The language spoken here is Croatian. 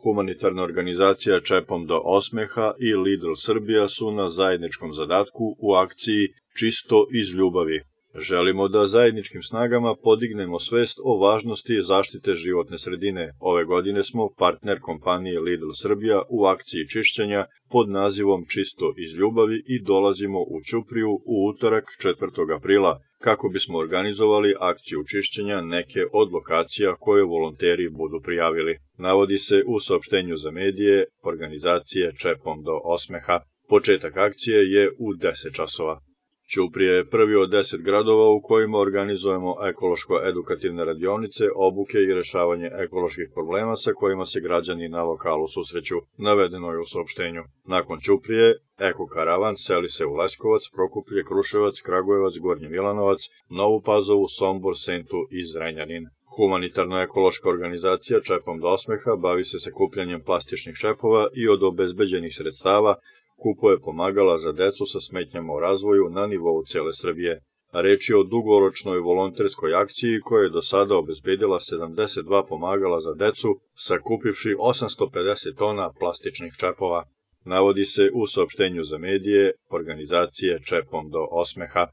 Humanitarna organizacija Čepom do osmeha i Lidl Srbija su na zajedničkom zadatku u akciji Čisto iz ljubavi. Želimo da zajedničkim snagama podignemo svest o važnosti zaštite životne sredine. Ove godine smo partner kompanije Lidl Srbija u akciji čišćenja pod nazivom Čisto iz ljubavi i dolazimo u Ćupriju u utorak 4. aprila kako bismo organizovali akciju čišćenja neke od lokacija koje volonteri budu prijavili. Navodi se u saopštenju za medije organizacije Čepom do osmeha. Početak akcije je u 10 časova. Ćuprija je prvi od 10 gradova u kojima organizujemo ekološko-edukativne radionice, obuke i rešavanje ekoloških problema sa kojima se građani na lokalu susreću, navedeno je u saopštenju. Nakon Ćuprije, Eko-karavan seli se u Leskovac, Prokuplje, Kruševac, Kragujevac, Gornji Milanovac, Novu Pazovu, Sombor, Sentu i Zrenjanin. Humanitarno-ekološka organizacija Čepom do osmeha bavi se sakupljanjem plastičnih čepova i od obezbeđenih sredstava kupuje pomagala za decu sa smetnjama u razvoju na nivou cele Srbije. Reč je o dugoročnoj volonterskoj akciji koja je do sada obezbedila 72 pomagala za decu, sakupivši 850 tona plastičnih čepova. Navodi se u saopštenju za medije organizacije Čepom do osmeha.